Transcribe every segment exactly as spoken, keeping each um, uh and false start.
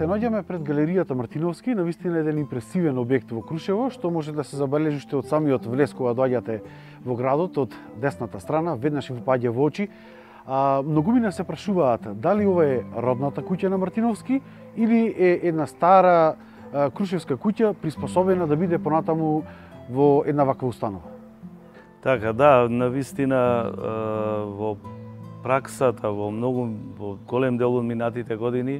Се наоѓаме пред галеријата Мартиновски, навистина еден импресивен објект во Крушево, што може да се забележи уште од самиот влез кога доаѓате во градот од десната страна, веднаш ви паѓа во очи. А, многумина се прашуваат дали ова е родната куќа на Мартиновски или е една стара а, крушевска куќа приспособена да биде понатаму во една ваква установа. Така, да, навистина во праксата, во многу во голем дел од минатите години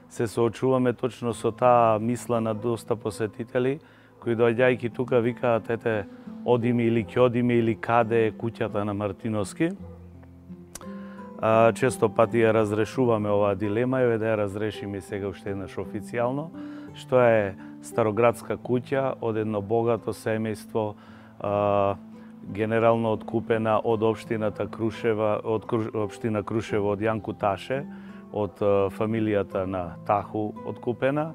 се соочуваме точно со таа мисла на доста посетители кои доаѓајќи тука викаат ете одиме или ќе одиме или каде е куќата на Мартиновски. А, често пати ја разрешуваме оваа дилема и да ја разрешиме сега уште еднаш официјално, што е староградска куќа од едно богато семејство, а, генерално откупена од општината Крушева, од општина Крушево од Јанку Таше, од фамилијата на Таху откупена,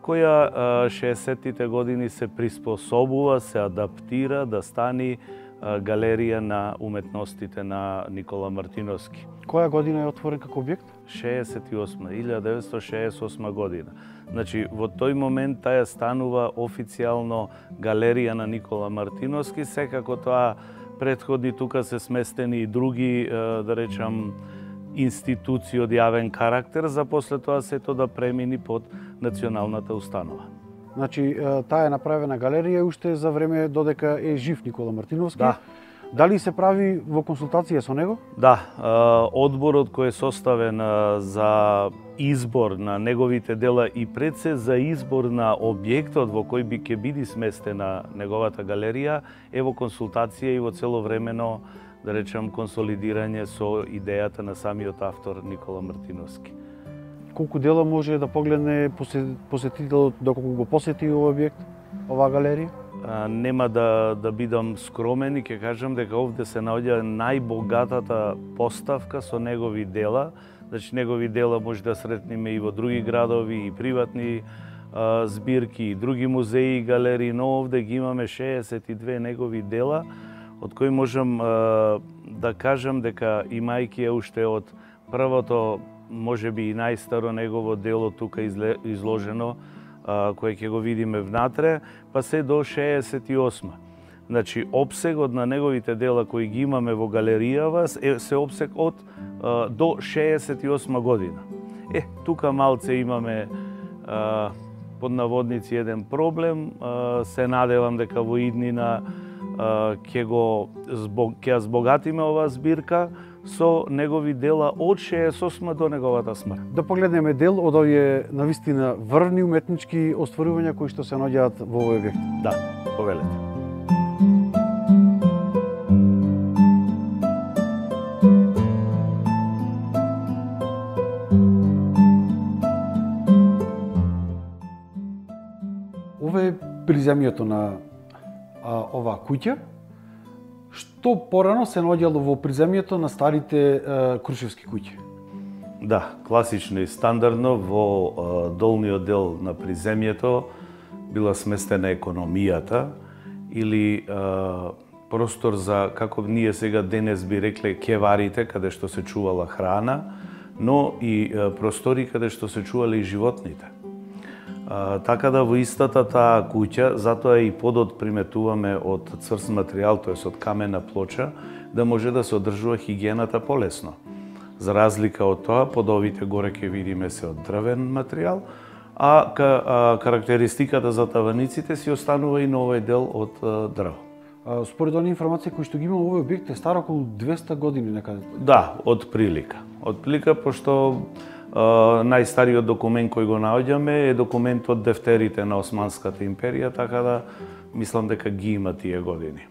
која шеесеттите години се приспособува, се адаптира да стани галерија на уметностите на Никола Мартиновски. Која година е отворен како објект? шеесет и осма, илјада деветстотини шеесет и осма година. Значи, во тој момент таја станува официјално галерија на Никола Мартиновски, секако тоа претходи тука се сместени и други, да речам, институции од јавен карактер, за после тоа сето да премини под националната установа. Значи, таа е направена галерија уште за време додека е жив Никола Мартиновски. Да. Дали се прави во консултација со него? Да, одборот кој е составен за избор на неговите дела и пред се за избор на објектот во кој би ќе биде сместена неговата галерија е во консултација и во целовремено, да речем, консолидирање со идејата на самиот автор Никола Мартиновски. Колку дела може да погледне посетителот доколку го посети овој објект, оваа галерија? А, нема да, да бидам скромен и ќе кажам дека овде се наоѓа најбогатата поставка со негови дела. Значи, негови дела може да сретнеме и во други градови, и приватни а, збирки, и други музеи и галерии, но овде ги имаме шеесет и две негови дела, од кои можам а, да кажам дека имајќи ја уште од првото, може би и најстаро негово дело тука изложено, кој ќе го видиме внатре, па се до шеесет и осма. Значи, обсегот на неговите дела кои ги имаме во галеријава е се обсег од а, до шеесет и осма година. Е, тука малце имаме а, под наводници еден проблем, а, се надевам дека во иднина ќе го због, ќе збогатиме оваа збирка со негови дела од шеесет и осма до неговата смрт. Да погледнеме дел од овие навистина врвни уметнички остварувања кои што се наоѓаат во овој објект. Да, повелете. Ова е приземјето на а, оваа куќа, што порано се наоѓало во приземјето на старите а, крушевски куќи. Да, класично и стандардно во а, долниот дел на приземјето била сместена економијата или а, простор за, како ние сега денес би рекле, кеварите, каде што се чувала храна, но и а, простори каде што се чували и животните. А, така да во истата таа куќа, затоа и подот приметуваме од цврст материјал, тоест од камена плоча, да може да се одржува хигиената полесно. За разлика од тоа, подовите горе ќе видиме се од дрвен материјал, а, ка, а карактеристиката за таваниците си останува и на овој дел од а, дрво. А, според оние информации кои што ги има овој објект е стар околу двесте години некаде. Да, од прилика. Од прилика, пошто Uh, најстариот документ кој го наоѓаме е документ од дефтерите на Османската империја, така да мислам дека ги има тие години.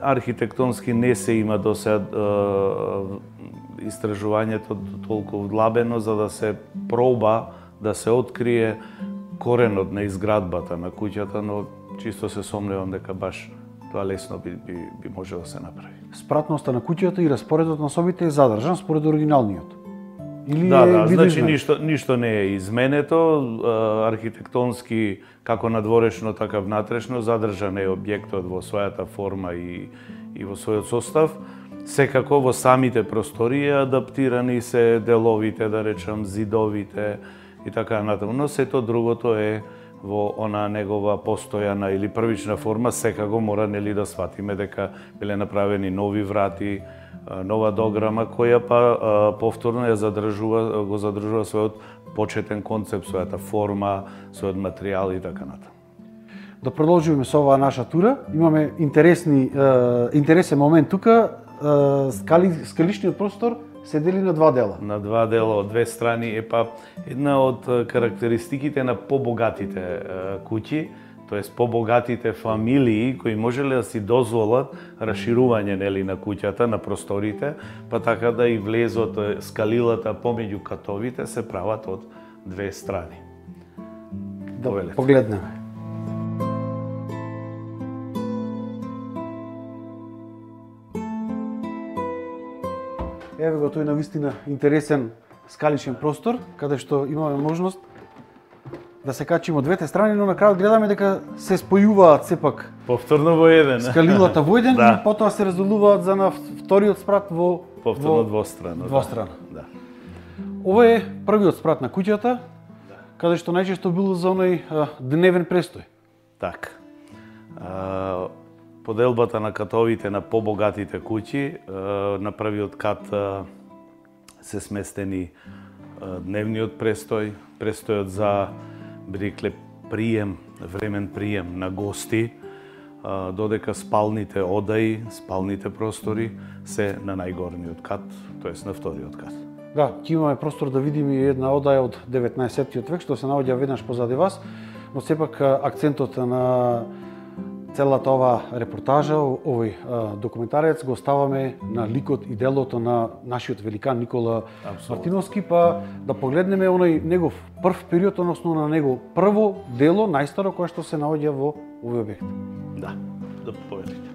Архитектонски не се има до сега uh, истражувањето толку вдлабено за да се проба да се открие коренот на изградбата на куќата, но чисто се сомневам дека баш тоа лесно би, би, би можело да се направи. Спратноста на куќата и распоредот на собите е задржан според оригиналниот. Или да, е да, значи изменет? ништо, ништо не е изменето, архитектонски како надворешно, така внатрешно, задржан е објектот во својата форма и, и во својот состав. Секако во самите простории адаптирани се деловите, да речам, зидовите и така натаму. Но сето другото е во она негова постојана или првична форма, секако мора нели да сватиме дека биле направени нови врати, нова дограма која па повторно ја задржува го задржува својот почетен концепт, својата форма, својот материјал и така натаму. Да продолжиме со оваа наша тура. Имаме интересни е, интересен момент тука. Е, скали, скалишниот простор се дели на два дела. На два дела, од две страни е па една од карактеристиките на побогатите е, куќи, тоест побогатите фамилии кои можеле да си дозволат расширување нели на куќата, на просторите, па така да и влезот скалилата помеѓу катовите се прават од две страни. Да Повелете. Погледнеме. Еве го тој навистина интересен скаличен простор, каде што имаме можност да се качиме од двете страни, но на крајот гледаме дека се спојуваат сепак повторно во еден. Скалилата во еден да. И потоа се разделуваат за на вториот спрат во повторно двострано. Двострано. Да. Ова е првиот спрат на куќата, да. Каде што најчесто бил за оној а, дневен престој. Така. А, поделбата на катовите на побогатите куќи, на првиот кат се сместени дневниот престој, престојот за бирекле прием, времен прием на гости, додека спалните одаи, спалните простори се на најгорниот кат, тоест на вториот кат. Да, ќе имаме простор да видиме и една одаја од деветнаесеттиот век што се наоѓа веднаш позади вас, но сепак акцентот на целата ова репортажа, овој документарец го ставаме на ликот и делото на нашиот великан Никола Абсолютно. Мартиновски, па да погледнеме оној негов прв период, односно на него прво дело, најстаро кое што се наоѓа во овој објект. Да, да повелите.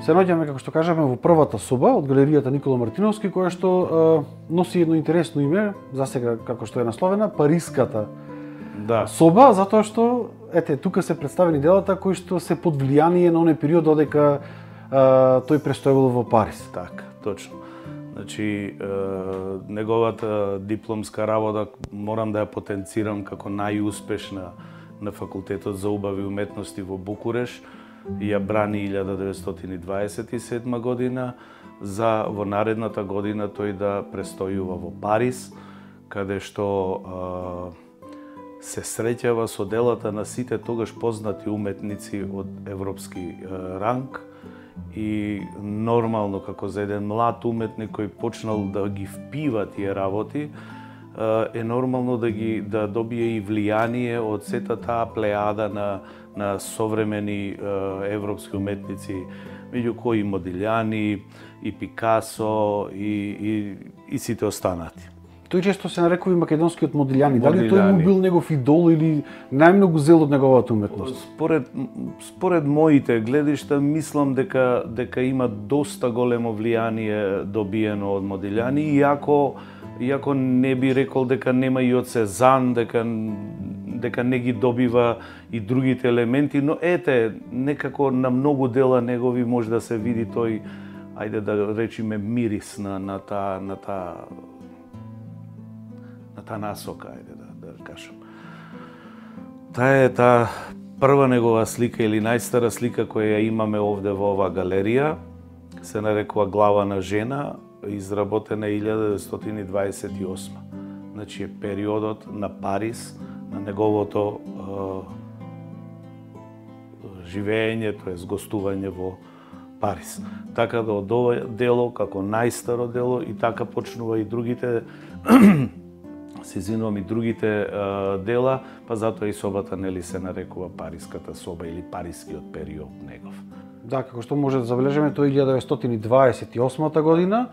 Се наоѓаме, како што кажаме, во првата соба од галеријата Никола Мартиновски, која што е, носи едно интересно име, засега како што е насловена, Париската да. Соба, затоа што ете тука се представени делата кои што се под влијание на оној период додека е, тој престојувал во Париз. Така, точно. Значи, е, неговата дипломска работа морам да ја потенцирам како најуспешна на факултетот за убави уметности во Букуреш. Ја брани илјада деветстотини дваесет и седма година, за во наредната година тој да престојува во Париз, каде што а, се среќава со делата на сите тогаш познати уметници од европски а, ранг и нормално како за еден млад уметник кој почнал да ги впива тие работи, е нормално да ги да добие и влијание од сета таа плејада на на современи е, европски уметници, меѓу кои Модилјани, и Пикасо, и, и, и сите останати. Тој често се нарекува и македонскиот Модилјани. Дали тој му бил негов идол или најмногу зел од неговата уметност? Според, според моите гледишта, мислам дека, дека има доста големо влијание добиено од Модилјани, иако, иако не би рекол дека нема и од Сезан, дека дека не ги добива и другите елементи, но ете, некако на многу дела негови може да се види тој, ајде да речиме, мирис на, на таа на таа на таа насока, ајде да, да кажам. Таа е таа прва негова слика или најстара слика која ја имаме овде во оваа галерија, се нарекува Глава на жена, изработена илјада деветстотини дваесет и осма. Значи е периодот на Париз, на неговото е, живење, тоест гостување во Париз. Така да од ова дело, како најстаро дело, и така почнува и другите, се извинувам, и другите е, дела, па затоа и собата нели се нарекува Париската соба или Парискиот период негов. Да, како што може да забележиме, тоа е илјада деветстотини дваесет и осмата година,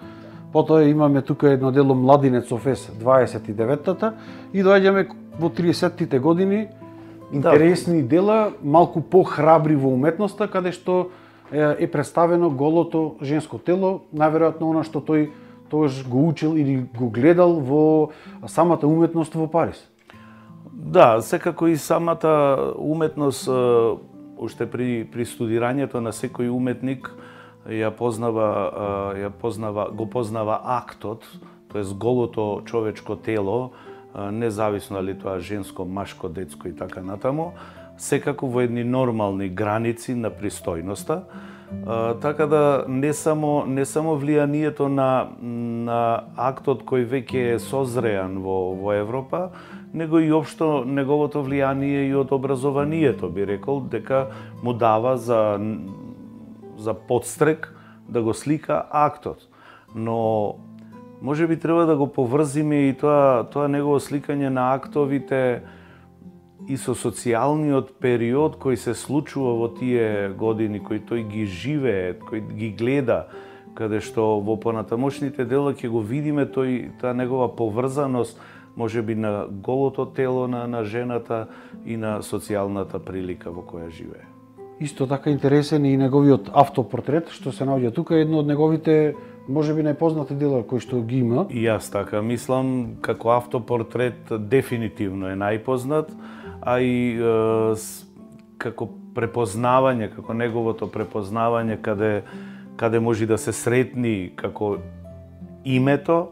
потоа имаме тука едно дело Младинец Офес дваесет и деветата и доаѓаме во триесеттите години интересни да. Дела, малку похрабри во уметноста, каде што е представено голото женско тело, најверојатно она што тој тогаш го учил или го гледал во самата уметност во Париз. Да, секако и самата уметност, уште при, при студирањето на секој уметник, ја познава, ја познава, го познава актот, тоест голото човечко тело, независно дали тоа женско, машко, детско и така натаму, секако во едни нормални граници на пристојноста. Така да не само не само влијанието на на актот кој веќе е созреан во во Европа, него и општо неговото влијание и од образованието, би рекол, дека му дава за за подстрек да го слика актот. Но може би треба да го поврзиме и тоа тоа негово сликање на актовите и со социјалниот период кој се случува во тие години, кој тој ги живее, кој ги гледа, каде што во понатамошните дела ќе го видиме тој таа негова поврзаност, можеби на голото тело на на жената и на социјалната прилика во која живее. Исто така интересен и неговиот автопортрет, што се наоѓа тука, едно од неговите можеби најпознати дела кои што ги има. И јас така мислам, како автопортрет дефинитивно е најпознат, а и е, како препознавање, како неговото препознавање каде каде може да се сретни како името,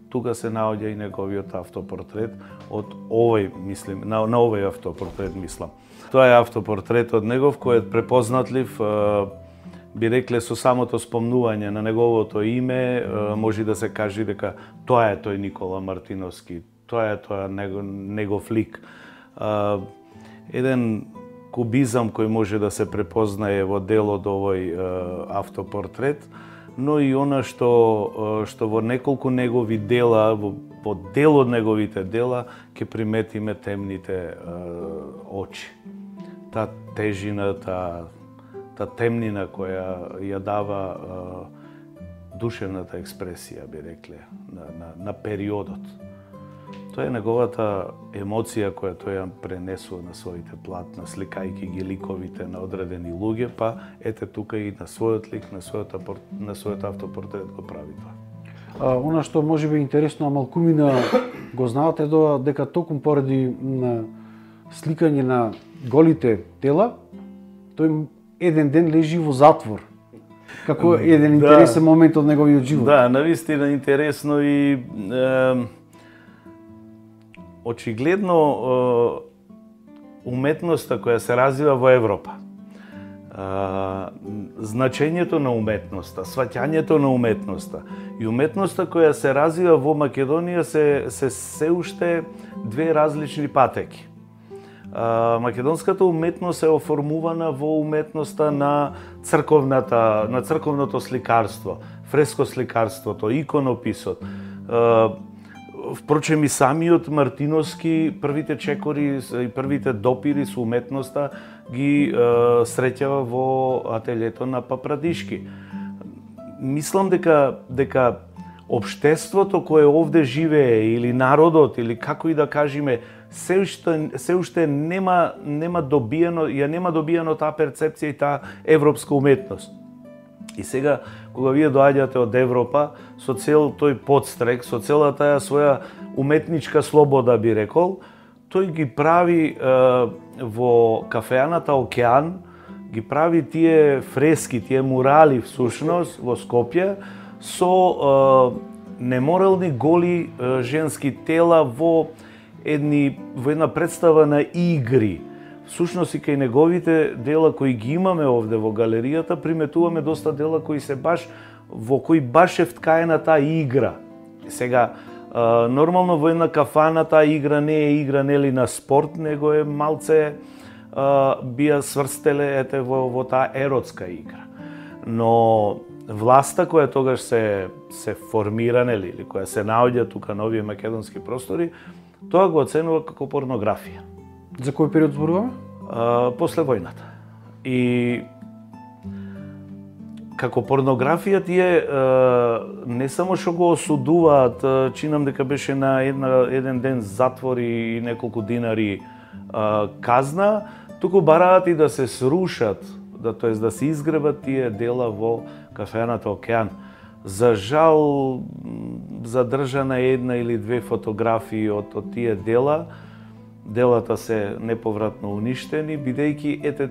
тука се наоѓа и неговиот автопортрет од овој, мислим, на, на овој автопортрет мислам. Тоа е автопортрет од негов кој е препознатлив, е, би рекле со самото спомнување на неговото име, е, може да се каже дека тоа е тој Никола Мартиновски, тоа е тоа негов, негов лик. Uh, еден кубизам кој може да се препознае во делот овој uh, автопортрет, но и она што uh, што во неколку негови дела, во, во дел од неговите дела, ќе приметиме темните uh, очи. Та тежина, та, та темнина која ја дава uh, душевната експресија, би рекле, на, на, на периодот. Тоа е неговата емоција која тој ја пренесува на своите платна, сликајќи ги ликовите на одредени луѓе, па ете тука и на својот лик, на својот, на својот автопортрет го прави тоа. А, она што може би интересно, а малкумина го знаате тоа, дека токму поради на сликање на голите тела, тој еден ден лежи во затвор. Како еден интересен да, момент од неговиот живот. Да, навистина интересно и е, очигледно уметноста која се развива во Европа, значењето на уметноста, сваќањето на уметноста и уметноста која се развива во Македонија се се се уште две различни патеки. Македонската уметност е оформувана во уметноста на црковната, на црковното сликарство, фрескосликарството, иконописот. Впрочем и самиот Мартиновски првите чекори и првите допири со уметноста ги е, среќава во ателјето на Папрадишки. Мислам дека дека општеството кое овде живее или народот или како и да кажеме се уште се уште нема нема добиено ја нема добиено таа перцепција и таа европска уметност. И сега, кога вие доаѓате од Европа, со цел тој подстрек, со целата таа своја уметничка слобода, би рекол, тој ги прави е, во кафеаната Океан, ги прави тие фрески, тие мурали, всушност, во Скопје, со е, неморални голи е, женски тела во, едни, во една представа на игри. Всушност и кај неговите дела кои ги имаме овде во галеријата, приметуваме доста дела кои се баш во кои баш е вткаена таа игра. Сега нормално во една кафана таа игра не е игра нели на спорт, него е малце би ја сврстеле ете во во таа еротска игра. Но власта која тогаш се се формира нели или која се наоѓа тука на овие македонски простори, тоа го оценува како порнографија. За кој период зборуваме? После војната. И како порнографија тие не само што го осудуваат, чинам дека беше на една, еден ден затвор и неколку динари казна, туку бараат и да се срушат, да тоест да се изгребат тие дела во кафеаната Океан. За жал задржана една или две фотографии од, од тие дела. Делата се неповратно уништени, бидејќи ете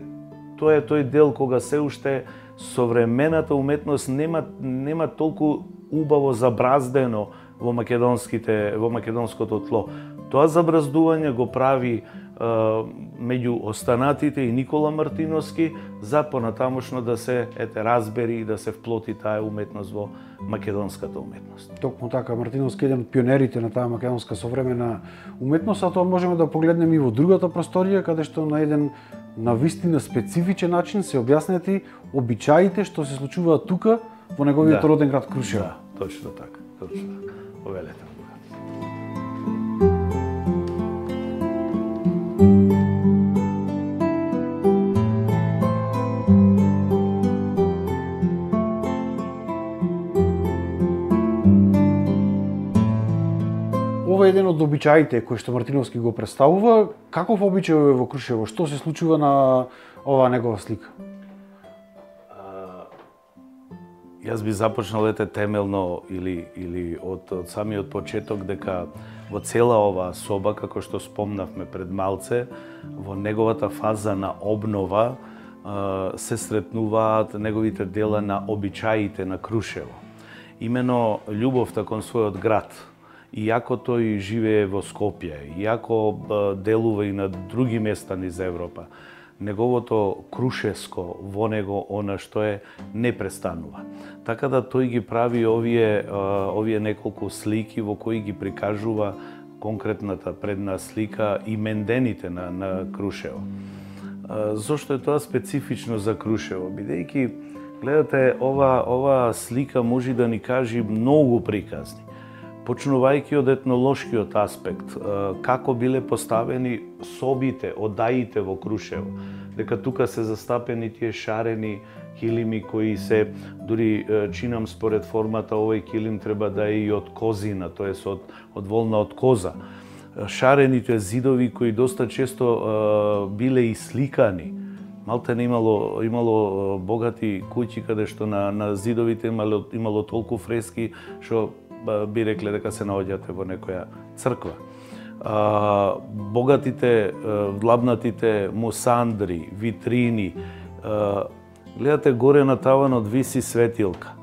тоа е тој дел кога се уште современата уметност нема нема толку убаво забраздено во македонските во македонското тло. Тоа забраздување го прави е, меѓу останатите и Никола Мартиновски за понатамошно да се ете разбери и да се вплоти таа уметност во македонската уметност. Токму така, Мартиновски е еден од пионерите на таа македонска современа уметност, а тоа можеме да погледнеме и во другата просторија, каде што на еден на вистина специфичен начин се објаснети обичаите што се случуваат тука во неговиот да. роден град Крушево. Да, точно така, точно така. Повелете. Ова е еден од обичаите кои што Мартиновски го представува. Каков обичај е во Крушево? Што се случува на оваа негова слика? Јас би започнал ете темелно или или од од самиот почеток дека во цела оваа соба, како што спомнавме пред малце, во неговата фаза на обнова се сретнуваат неговите дела на обичаите на Крушево. Имено љубовта кон својот град. Иако тој живее во Скопје, иако делува и на други места низ Европа, неговото крушевско во него она што е не престанува. Така да тој ги прави овие овие неколку слики во кои ги прикажува конкретната предна слика имендените на на Крушево. Зошто е тоа специфично за Крушево? Бидејќи гледате ова ова слика може да ни кажи многу приказни. Почнувајќи од етнолошкиот аспект, како биле поставени собите, одаите во Крушево, дека тука се застапени тие шарени килими кои се, дури чинам според формата, овој килим треба да е и од козина, тоест од, од волна од коза. Шарените зидови кои доста често а, биле и сликани. Малте не имало, имало богати куќи каде што на, на зидовите имало, имало толку фрески што би рекле дека се наоѓате во некоја црква. А, богатите, вдлабнатите мусандри, витрини, а, гледате горе на таванот виси светилка.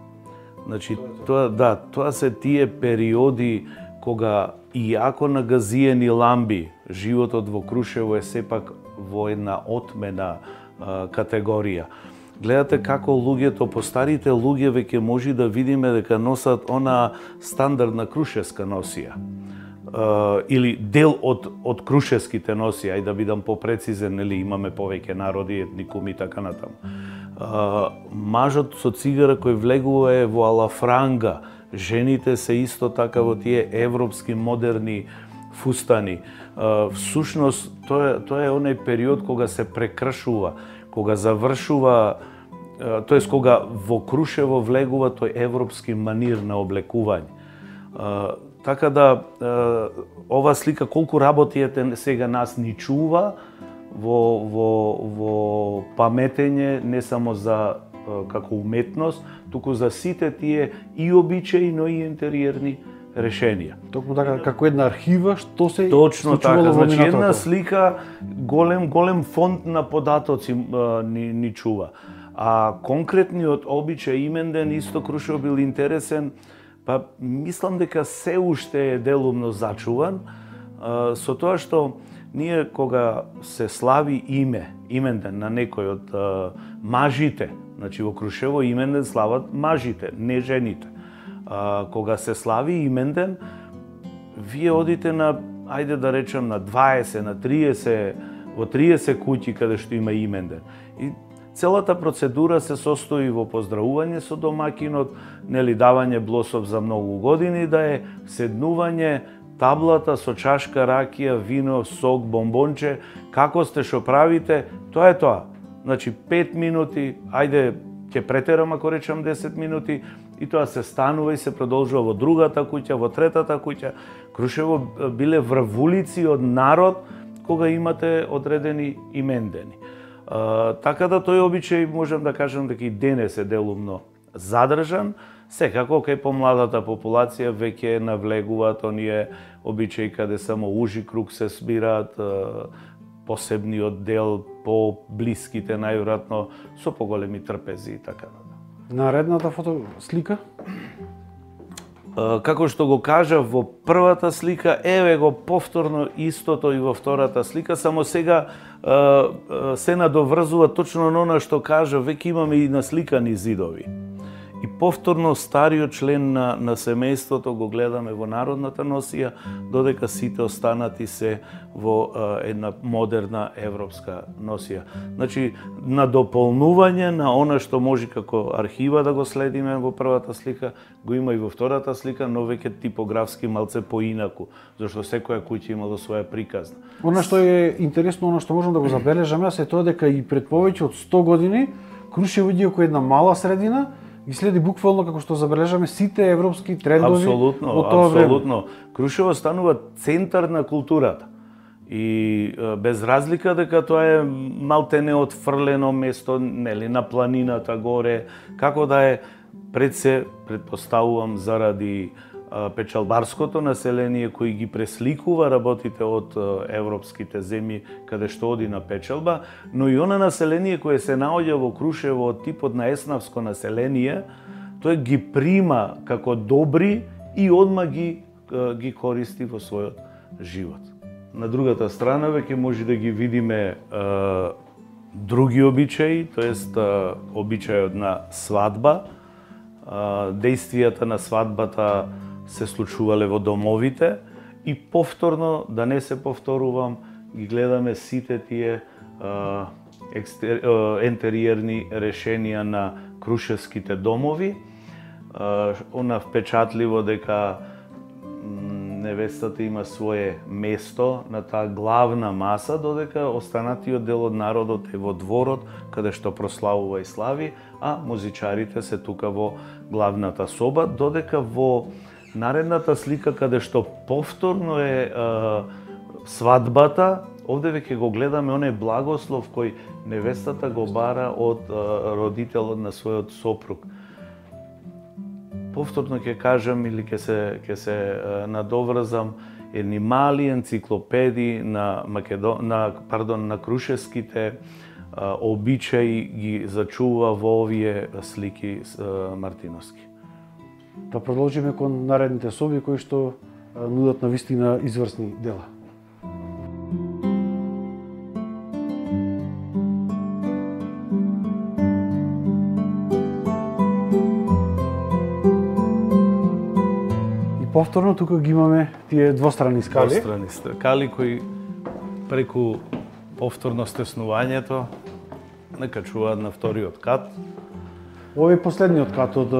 Значи, тоа, да, тоа се тие периоди кога иако на газиени ламби, животот во Крушево е сепак во една отмена а, категорија. Гледате како луѓето, постарите луѓе веќе може да видиме дека носат она стандардна крушевска носија. Uh, или дел од, од крушевските носија, ај да бидам попрецизен, нели имаме повеќе народи, етникуми и така натаму. Uh, мажот со цигара кој влегува е во алафранга, жените се исто така во тие европски модерни фустани. Uh, всушност, тоа, тоа е оној период кога се прекршува, кога завршува, тоест кога во Крушево влегува тој европски манир на облекување. Така да, ова слика колку работи ете сега нас ни чува во, во, во паметење не само за како уметност, туку за сите тие и обичаи, но и интериерни решенија. Токму така, како една архива, што се Точно така, значи минатото. една слика, голем голем фонд на податоци ни, ни чува. А конкретниот обичај именден исто Крушево бил интересен, па мислам дека се уште е делумно зачуван, со тоа што ние кога се слави име, именден на некој од мажите, значи во Крушево именден слават мажите, не жените. А, кога се слави именден, вие одите на, ајде да речем, на дваесет, на триесет, во триесет куќи каде што има именден. И целата процедура се состои во поздравување со домакинот, нели давање блосов за многу години, да е седнување, таблата со чашка ракија, вино, сок, бомбонче, како сте, што правите, тоа е тоа. Значи пет минути, ајде ќе претерам ако речам десет минути, и тоа се станува и се продолжува во другата куќа, во третата куќа. Крушево биле врвулици од народ кога имате одредени имендени. А, така да тој обичај можам да кажам дека и денес е делумно задржан. Секако кај помладата популација веќе навлегуваат оние обичаи каде само ужи круг се збираат, посебниот дел, по блиските најверојатно со поголеми трпези и така натаму. Наредната фото слика? Како што го кажав во првата слика, еве го повторно истото и во втората слика, само сега се надоврзува точно на она што кажа, веќе имаме и насликани зидови. И повторно стариот член на, на семејството го гледаме во народната носија, додека сите останати се во е, една модерна европска носија. Значи, на дополнување на она што може како архива да го следиме во првата слика, го има и во втората слика, но веќе типографски малце поинаку, зашто секоја куќа имало своја приказна. Она што е интересно, она што можам да го забележам, е тоа дека и пред повеќе од сто години Крушево иде како една мала средина, и следи буквално како што забележаме сите европски трендови абсолютно, во тоа време. Апсолутно. Крушево станува центар на културата. И без разлика дека тоа е малтене отфрлено место, нели, на планината горе, како да е, пред се претпоставувам заради печалбарското население кој ги пресликува работите од европските земји каде што оди на печалба, но и она население кое се наоѓа во Крушево од типот на еснавско население, тој ги прима како добри и одма ги ги користи во својот живот. На другата страна веќе може да ги видиме е, други обичаи, тоест обичајот на свадба, е, действијата на свадбата се случувале во домовите и повторно, да не се повторувам, ги гледаме сите тие а, екстер, а, ентериерни решенија на крушевските домови. А, она впечатливо дека невестата има свое место на таа главна маса, додека останатиот дел од народот е во дворот, каде што прославува и слави, а музичарите се тука во главната соба, додека во наредната слика каде што повторно е, е свадбата, овде веќе го гледаме оној благослов кој невестата го бара од е, родителот на својот сопруг. Повторно ќе кажам или ќе се ќе се е, надоврзам, едни мали енциклопедии на Македон на пардон на крушевските е, обичаи ги зачува во овие слики е, мартиновски. Да продолжиме кон наредните соби кои што нудат на вистина изврсни дела. И повторно тука ги имаме тие двострани скали. Двострани скали кои преку повторно стеснувањето накачуваат на вториот кат. Овој е последниот кат од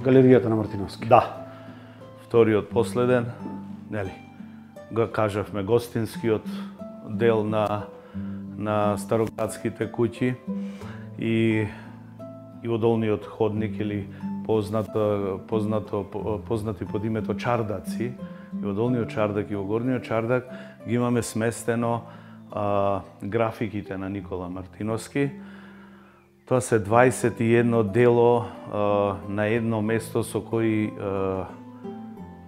галеријата на Мартиновски. Да. Вториот последен, нели, го кажавме гостинскиот дел на на староградските куќи и и во долниот ходник или познато познато познати под името чардаци, и во долниот чардак и во горниот чардак ги имаме сместено а, графиките на Никола Мартиновски. Тоа се дваесет и едно дело а, на едно место со кој а,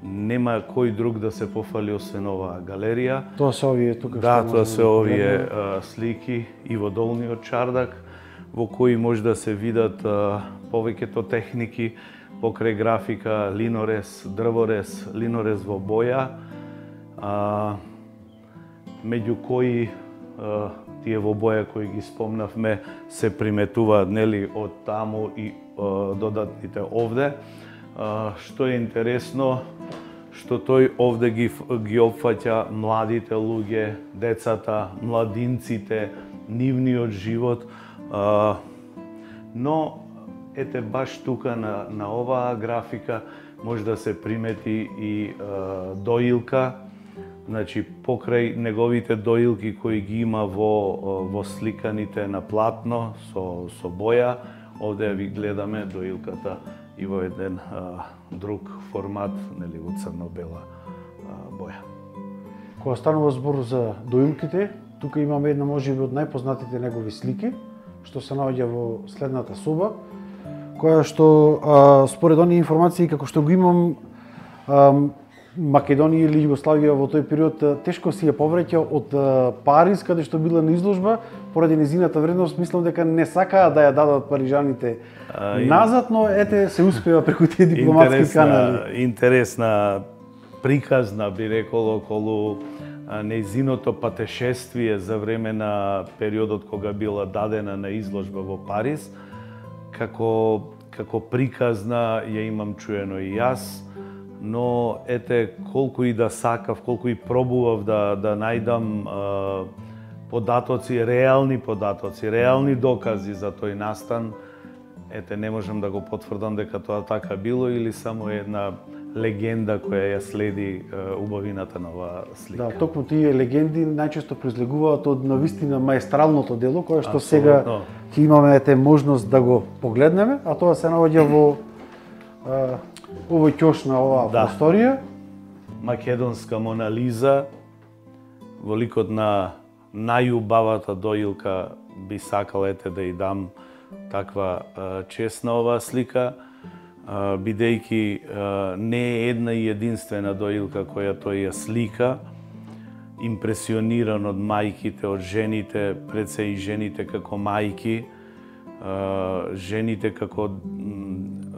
нема кој друг да се пофали освен оваа галерија. Тоа се овие тука. Да, тоа се овие а, слики и во долниот чардак, во кои може да се видат а, повеќето техники покрај графика, линорез, дрворез, линорез во боја, а, меѓу кои а, тие во боја кои ги спомнавме се приметуваат, нели, од таму и а, додатните овде. А, што е интересно, што тој овде ги, ги опфаќа младите луѓе, децата, младинците, нивниот живот, а, но ете баш тука на, на оваа графика може да се примети и а, доилка. Значи, покрај неговите доилки кои ги има во, во сликаните на платно со, со боја, овде ви гледаме доилката и во еден а, друг формат, нели, во црно-бела а, боја. Кога станува збор за доилките, тука имаме една можеби од најпознатите негови слики, што се наоѓа во следната соба, која што а, според оние информации како што го имам, а, Македонија или Југославија во тој период тешко си ја повраќа од Париз, каде што била на изложба, поради незината вредност, мислам дека не сакаа да ја дадат парижаните а, назад, но ете се успеа преку тие дипломатски интересна, канали. Интересна приказна, би рекол, околу нејзиното патешествие за време на периодот кога била дадена на изложба во Париз. Како, како приказна ја имам чуено и јас, но ете колку и да сакав, колку и пробував да да најдам а, податоци, реални податоци, реални докази за тој настан, ете не можам да го потврдам дека тоа така било или само една легенда која ја следи а, убавината на оваа слика. Да, токму тие легенди најчесто произлегуваат од навистина маестралното дело, кое што сега ќе имаме ете можност да го погледнеме, а тоа се наоѓа во а, овој ќош на оваа да. Просторија. Македонска Мона Лиза, во ликот на најубавата доилка, би сакал ете да ја дам таква а, чест на оваа слика, а, бидејќи а, не е една и единствена доилка која тој ја слика, импресиониран од мајките, од жените, пред се и жените како мајки, а, жените како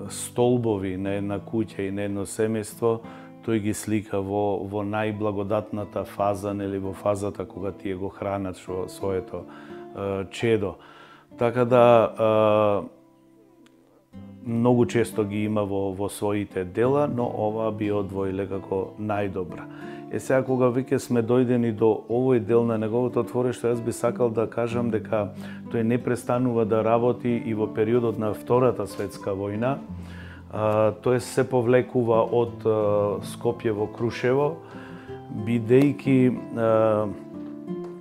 столбови на една куќа и на едно семејство, тој ги слика во, во најблагодатната фаза, нели во фазата кога тие го хранат шо, своето е, чедо. Така да е, многу често ги има во, во своите дела, но ова би одвоиле како најдобра. Е сега кога веќе сме дојдени до овој дел на неговото творештво, јас би сакал да кажам дека тој не престанува да работи и во периодот на Втората светска војна. Uh, тој се повлекува од uh, Скопје во Крушево, бидејќи uh,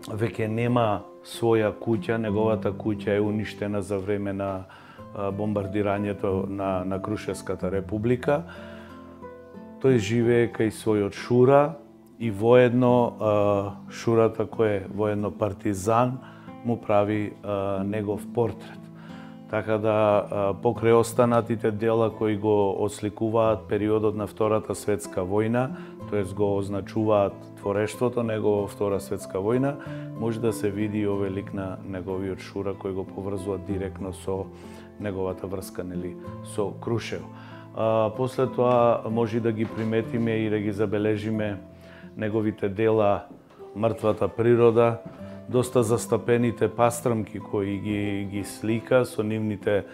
веќе нема своја куќа, неговата куќа е уништена за време на uh, бомбардирањето на, на Крушевската република. Тој живее кај својот Шура и воедно uh, Шурата кој е воедно партизан му прави uh, негов портрет. Така да, покрај останатите дела кои го осликуваат периодот на Втората светска војна, тоест го означуваат творештвото негово во Втора светска војна, може да се види и овој лик на неговиот Шура кој го поврзува директно со неговата врска, нели, со Крушево. А, после тоа може да ги приметиме и да ги забележиме неговите дела Мртвата природа, доста застапените пастрамки кои ги, ги слика со нивните е,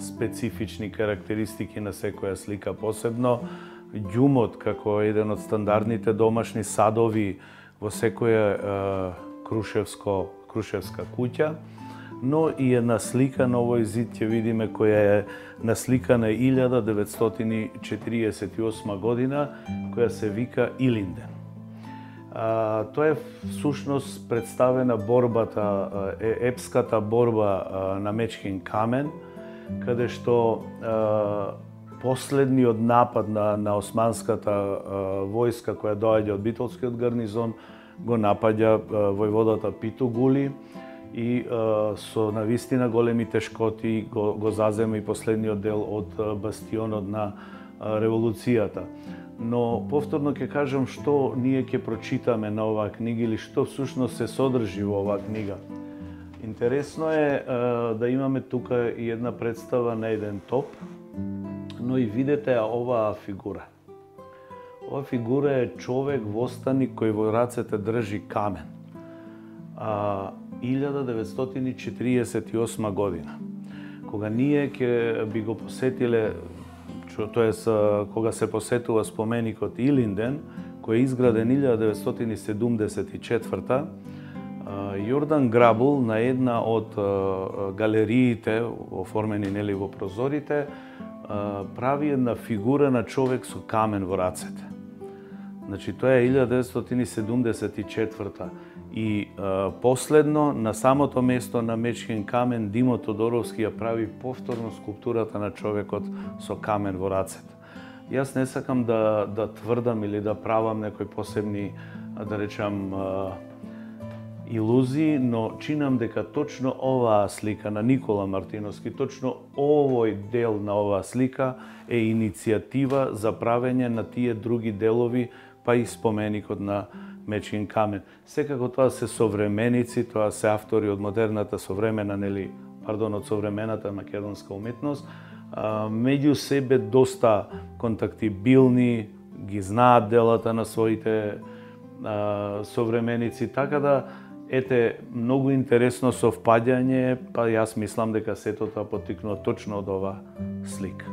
специфични карактеристики на секоја слика посебно. Ѓумот како еден од стандардните домашни садови во секоја е, крушевско, крушевска куќа, но и една слика на овој зид ќе видиме која е насликана илјада деветстотини четириесет и осма година, која се вика Илинден. А, тоа е всушност представена борбата, епската борба а, на Мечкин камен, каде што а, последниот напад на, на османската а, војска која доаѓа од битолскиот гарнизон го напаѓа а, војводата Питугули и а, со навистина големи тешкоти го, го зазема и последниот дел од а, бастионот на а, револуцијата. Но повторно ќе кажам што ние ќе прочитаме на оваа книга или што всушност се содржи во оваа книга. Интересно е, е да имаме тука и една представа на еден топ, но и видете оваа фигура. Оваа фигура е човек востаник кој во рацете држи камен. А, илјада деветстотини четириесет и осма година. Кога ние ќе би го посетиле, тоест кога се посетува споменикот Илинден, кој е изграден илјада деветстотини седумдесет и четврта, Јордан Грабул на една од галериите оформени нели во прозорите прави една фигура на човек со камен во рацете. Значи тоа е илјада деветстотини седумдесет и четврта и а, последно на самото место на Мечкин камен Димо Тодоровски ја прави повторно скулптурата на човекот со камен во рацете. Јас не сакам да да тврдам или да правам некои посебни, да речам, илузии, но чинам дека точно оваа слика на Никола Мартиновски, точно овој дел на оваа слика е иницијатива за правење на тие други делови, па и споменикот на Мечкин камен. Секако тоа се современици, тоа се автори од модерната современа, нели, пардон, од современата македонска уметност, меѓу себе доста контактибилни, ги знаат делата на своите а, современици, така да ете многу интересно совпаѓање, па јас мислам дека сето тоа поттикнува точно од ова слика.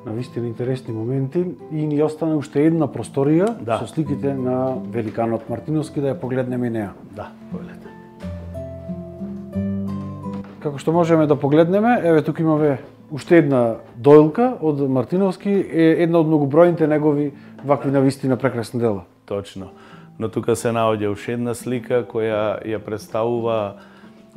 Навистина интересни моменти и ни остана уште една просторија да. Со сликите на великанот Мартиновски, да ја погледнеме и неа. Да, погледнете. Како што можеме да погледнеме, еве тука имаме уште една доилка од Мартиновски, е една од многобројните негови вакви навистина прекрасни дела. Точно. Но тука се наоѓа уште една слика која ја представува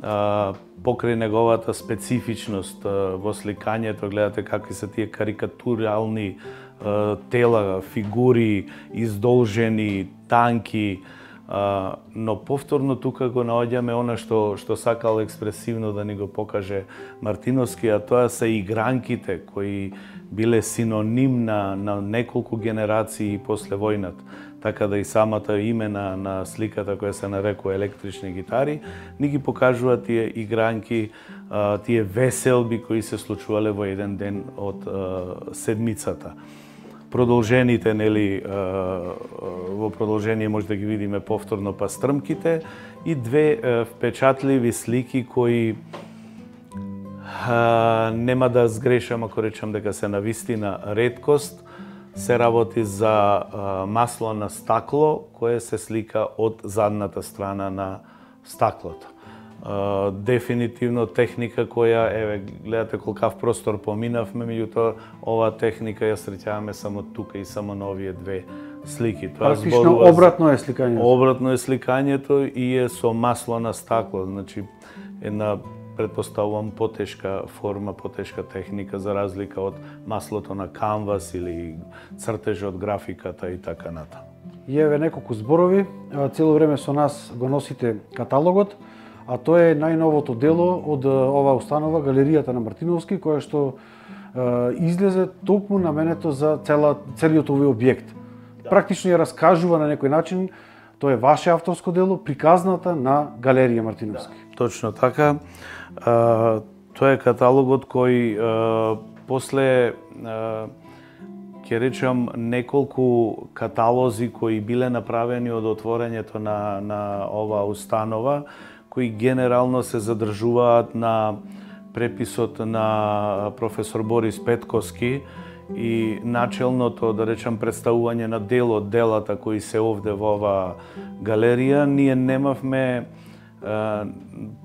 а, покрај неговата специфичност а, во сликањето. Гледате какви се тие карикатурални а, тела, фигури, издолжени, танки, а, но повторно тука го наоѓаме она што што сакал експресивно да ни го покаже Мартиновски, а тоа се игранките кои биле синоним на, на неколку генерации после војната. Така да и самата име на, на сликата која се нарекува електрични гитари, ни ги покажува тие игранки, а, тие веселби кои се случувале во еден ден од а, седмицата. Продолжените, нели, а, во продолжение може да ги видиме повторно па стрмките и две а, впечатливи слики кои а, нема да сгрешам ако речам дека се навистина реткост. Се работи за а, масло на стакло, кое се слика од задната страна на стаклото. А, дефинитивно техника која, еве, гледате колкав простор поминавме, меѓутоа оваа техника ја среќаваме само тука и само на овие две слики. Тоа практично обратно е сликањето. Обратно е сликањето и е со масло на стакло, значи една претпоставувам потешка форма, потешка техника за разлика од маслото на канвас или цртеж од графиката и така ната. И еве неколку зборови, цело време со нас го носите каталогот, а тоа е најновото дело од оваа установа, Галеријата на Мартиновски, која што е, излезе токму наменето за цела, целиот овој објект. Да. Практично ја раскажува на некој начин, тоа е ваше авторско дело, приказната на Галерија Мартиновски. Да, точно така. А, тоа е каталогот кој а, после а, ќе речам неколку каталози кои биле направени од отворањето на на оваа установа, кои генерално се задржуваат на преписот на професор Борис Петковски и начелното, да речам, представување на дел од делата кои се овде во оваа галерија. Ние немавме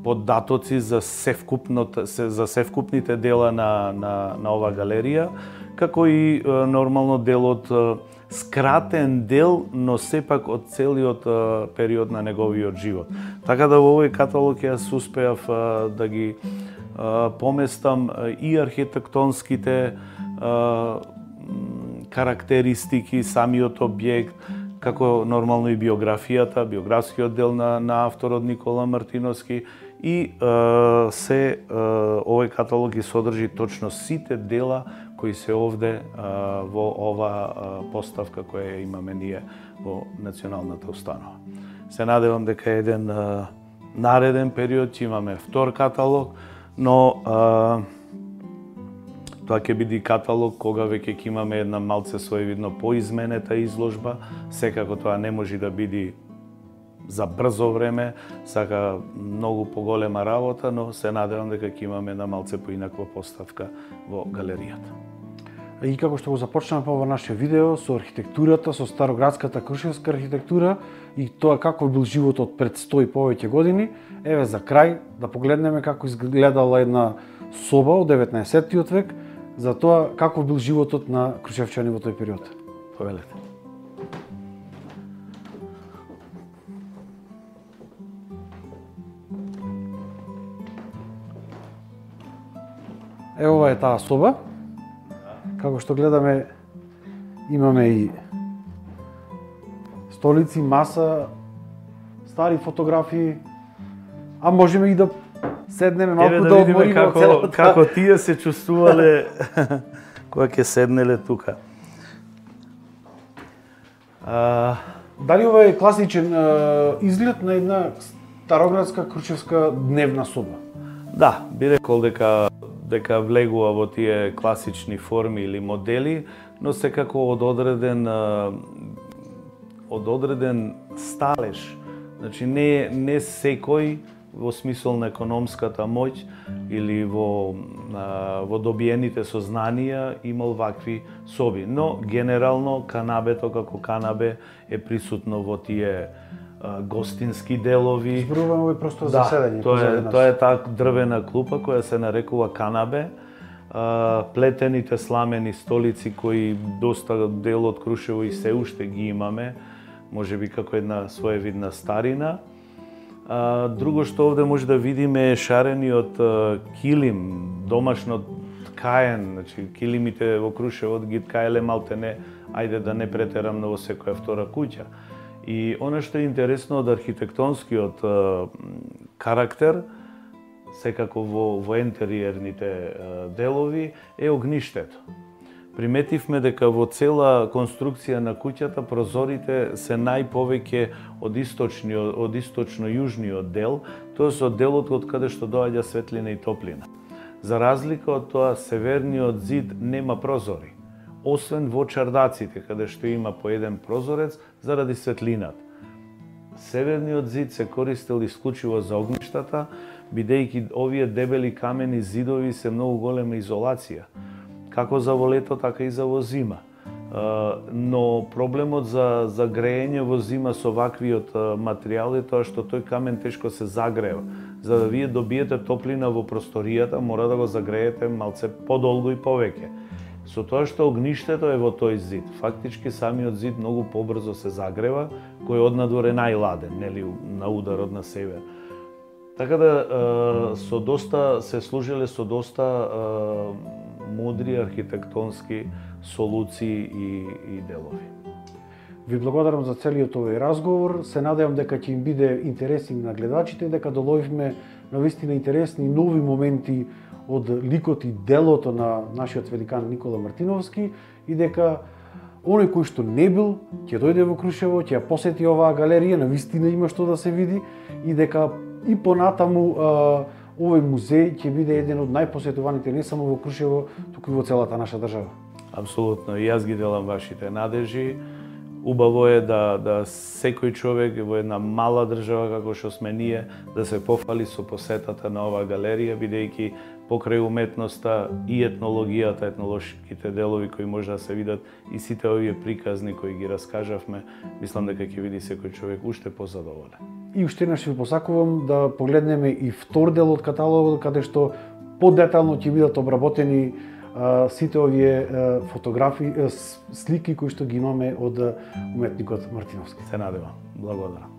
податоци за севкупното за севкупните дела на на на оваа галерија, како и нормално делот, скратен дел, но сепак од целиот период на неговиот живот. Така да во овој каталог јас успеав да ги поместам и архитектонските карактеристики, самиот објект, како нормално и биографијата, биографскиот дел на, на авторот Никола Мартиновски и е, се е, овој каталог ги содржи точно сите дела кои се овде е, во оваа поставка која имаме ние во Националната установа. Се надевам дека еден е, нареден период ќе имаме втор каталог, но е, тоа ќе биде каталог кога веќе ќе имаме една малце своевидно поизменета изложба. Секако тоа не може да биде за брзо време, сака многу поголема работа, но се надевам дека ќе имаме една малце поинаква поставка во галеријата. И како што го започнаме по ова наше видео со архитектурата, со староградската крушевска архитектура и тоа како бил животот пред сто и повеќе години, еве за крај да погледнеме како изгледала една соба од деветнаесеттиот век, за тоа како бил животот на крушевчани во тој период. Повелете. Ево ова е таа соба. Како што гледаме, имаме и столици, маса, стари фотографии, А можеме и да седнеме малку Еве да, да видиме одмориме како, целата... како тие се чувствувале кога ќе седнеле тука. А... Дали ова е класичен а, изглед на една староградска крушевска дневна соба? Да, би рекол дека дека влегува во тие класични форми или модели, но секако од одреден од одреден сталеж. Значи не не секој во смисол на економската моќ или во во добиените сознанија имал вакви соби, но генерално канабето како канабе е присутно во тие гостински делови. Зборуваме овој простор да, за седење. Тоа е тоа е таа дрвена клупа која се нарекува канабе. Плетените сламени столици кои доста дел од Крушево и се уште ги имаме, можеби како една своевидна старина. Друго што овде може да видиме е шарениот килим, домашно ткаен, значи килимите во Крушево ги ткаеле малтене, ајде да не претерам во секоја втора куќа. И она што е интересно од архитектонскиот карактер, секако во, во интериерните делови, е огништето. Приметивме дека во цела конструкција на куќата прозорите се најповеќе од источниот, од источно-јужниот дел, тоест од делот од каде што доаѓа светлина и топлина. За разлика од тоа, северниот зид нема прозори, освен во чардаците, каде што има по еден прозорец заради светлината. Северниот зид се користел исклучиво за огништата, бидејќи овие дебели камени зидови се многу голема изолација, како за во лето, така и за во зима. Но проблемот за, за греење во зима со ваквиот материјал е тоа што тој камен тешко се загрева. За да вие добиете топлина во просторијата, мора да го загреете малце подолго и повеќе. Со тоа што огништето е во тој зид, фактички самиот зид многу побрзо се загрева, кој однадвор е најладен, нели, на ударот на север. Така да со доста се служиле со доста мудри архитектонски солуции и, и делови. Ви благодарам за целиот овој разговор. Се надевам дека ќе им биде интересен на гледачите и дека доловивме навистина интересни нови моменти од ликот и делото на нашиот великан Никола Мартиновски и дека оној кој што не бил ќе дојде во Крушево, ќе ја посети оваа галерија, навистина има што да се види и дека и понатаму овој музеј ќе биде еден од најпосетуваните не само во Крушево, туку и во целата наша држава. Апсолутно, и јас ги делам вашите надежи. Убаво е да, да секој човек во една мала држава како што сме ние да се пофали со посетата на оваа галерија, бидејќи покрај уметноста и етнологијата, етнолошките делови кои може да се видат и сите овие приказни кои ги раскажавме, мислам дека ќе види секој човек уште позадоволен. И уште еднаш ви посакувам да погледнеме и втор дел од каталогот, каде што подетално ќе бидат обработени а, сите овие а, фотографии, а, слики кои што ги имаме од уметникот Мартиновски. Се надевам. Благодарам.